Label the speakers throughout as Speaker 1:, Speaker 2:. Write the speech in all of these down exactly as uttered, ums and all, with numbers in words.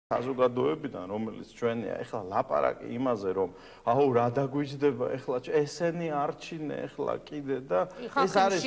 Speaker 1: საზოგადოებიდან, რომელიც ჩვენია, ეხლა ლაპარაკი იმაზე, რომ აუ რა დაგვიჯდება, ეხლა ესენი არჩინე, ეხლა კიდე და
Speaker 2: ეს არის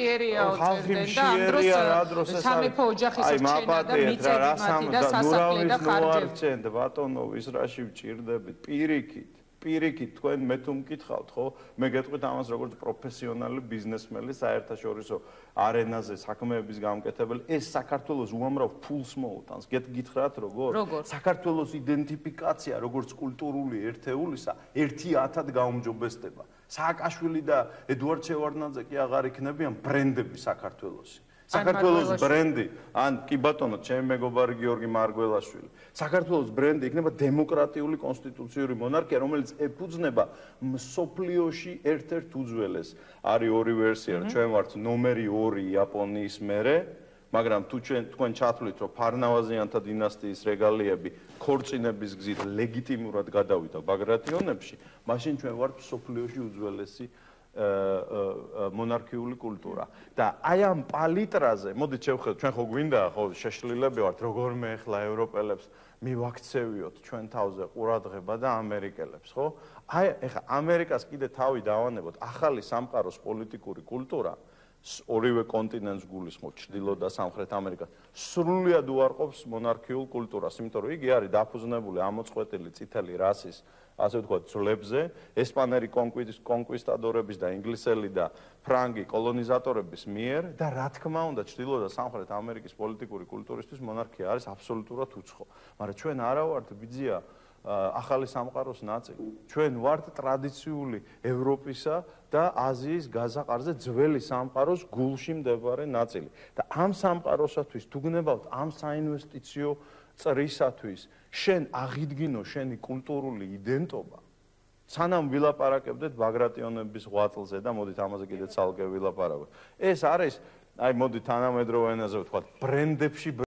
Speaker 2: ხალხი მშიერია, რა დროს ეს
Speaker 1: სამეფო ოჯახის რჩენა და მიწები მათი და სასახლე და ხარჯები. ბატონო, ის რაში ვჭირდებით, პირიქით. პირიქით თქვენ მე თუ მკითხავთ, ხო? მე გეტყვით ამას როგორც პროფესიონალი ბიზნესმენი, საერთაშორისო არენაზე საქმეების გამკეთებელი, ეს საქართველოს უამრავ ფულს მოუტანს. გეტგითხრათ როგორ? საქართველოს იდენტიფიკაცია როგორც კულტურული ერთეულისა ერთი ათად გაუმჯობესდება. სააკაშვილი და ედუარდ შევარდნაძე კი აღარ იქნებიან ბრენდები საქართველოსი. საქართველოს ბრენდი, ან კი ბატონო, ჩემი მეგობარი გიორგი მარგველაშვილი. საქართველოს ბრენდი იქნება დემოკრატიული კონსტიტუციური მონარქია, რომელიც ეფუძნება მსოფლიოში ერთ-ერთ უძველეს. არის ორი ვერსია, ჩვენ ვართ ნომერი ორი იაპონიის მერე, მაგრამ თუ ჩვენ თქვენ ჩათვლით, რომ ფარნავაზიანთა დინასტიის რეგალიები ქორწინების გზით ლეგიტიმურად გადავიდა ბაგრატიონებში, მაშინ ჩვენ ვართ მსოფლიოში უძველესი მონარქიული კულტურა და აი ამ პალიტრაზე მოდით შევხედოთ ჩვენ ხო გვინდა ხო შეშლილები ვართ როგორმე ახლა ევროპელებს მივაქცევიოთ ჩვენ თავზე ყურადღება და ამერიკელებს ხო აი ახლა ამერიკას კიდე თავი დავანებოთ ახალი სამყაროს პოლიტიკური კულტურა ორივე კონტინენტს გულისხმობ ჩრდილო და სამხრეთ ამერიკას სრულიად უარყოფს მონარქიულ კულტურას იმიტომ რომ იგი არის დაფუძნებული ამოწყვეტილი წითელი რასის ასე ვთქვათ, ძლებზე, ესპანელი კონკვისტადორების და ინგლისელი და ფრანგი კოლონიზატორების მიერ და რა თქმა უნდა, ჩრდილო და სამხრეთ ამერიკის პოლიტიკური კულტურისთვის მონარქია არის აბსოლუტურად უცხო. მაგრამ ჩვენ არა ვართ ბიძია ახალი სამყაროს ნაწილი. ჩვენ ვართ ტრადიციული ევროპისა და აზიის გაზაყარზე ძველი სამყაროს გულში მდებარე ნაწილი. და ამ სამყაროსათვის თუ გნებავთ ამ საინვესტიციო წრისათვის შენ აღიდგინო შენი კულტურული იდენტობა სანამ ვილაპარაკებდეთ ბაგრატიონების ღვაწლზე და მოდით ამაზე კიდე ცალკე ვილაპარაკოთ ეს არის აი მოდით თანამედროვე ენაზე ვთქვათ ბრენდებში